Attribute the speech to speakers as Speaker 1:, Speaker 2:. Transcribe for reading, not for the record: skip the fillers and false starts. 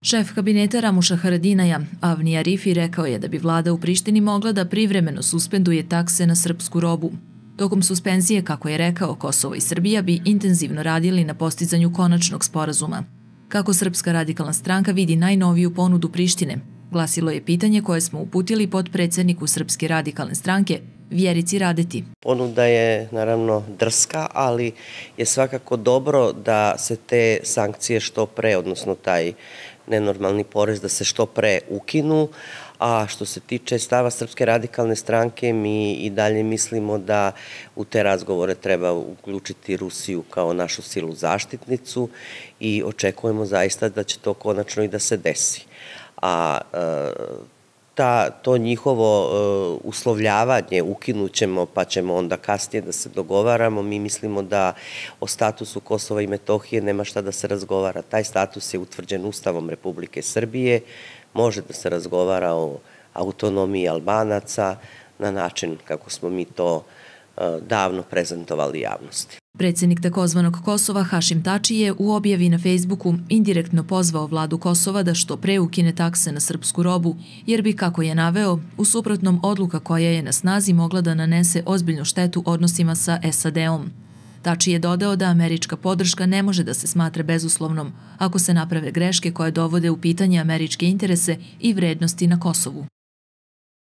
Speaker 1: Šef kabineta Ramuša Haradinaja, Avni Arifi, rekao je da bi vlada u Prištini mogla da privremeno suspenduje takse na srpsku robu. Tokom suspenzije, kako je rekao, Kosovo i Srbija bi intenzivno radili na postizanju konačnog sporazuma. Kako Srpska radikalna stranka vidi najnoviju ponudu Prištine, glasilo je pitanje koje smo uputili potpredsedniku Srpske radikalne stranke, Vjerici Radeti.
Speaker 2: Ponuda je naravno drska, ali je svakako dobro da se te sankcije što pre, odnosno taj nenormalni porez da se što pre ukinu, a što se tiče stava Srpske radikalne stranke, mi i dalje mislimo da u te razgovore treba uključiti Rusiju kao našu silu zaštitnicu i očekujemo zaista da će to konačno i da se desi. A to njihovo uslovljavanje ukinućemo pa ćemo onda kasnije da se dogovaramo. Mi mislimo da o statusu Kosova i Metohije nema šta da se razgovara. Taj status je utvrđen Ustavom Republike Srbije. Može da se razgovara o autonomiji Albanaca na način kako smo mi to davno prezentovali javnosti.
Speaker 1: Predsjednik takozvanog Kosova Hašim Tači je u objavi na Facebooku indirektno pozvao vladu Kosova da što pre ukine takse na srpsku robu, jer bi, kako je naveo, u suprotnom odluka koja je na snazi mogla da nanese ozbiljnu štetu odnosima sa SAD-om. Tači je dodao da američka podrška ne može da se smatra bezuslovnom ako se naprave greške koje dovode u pitanje američke interese i vrednosti na Kosovu.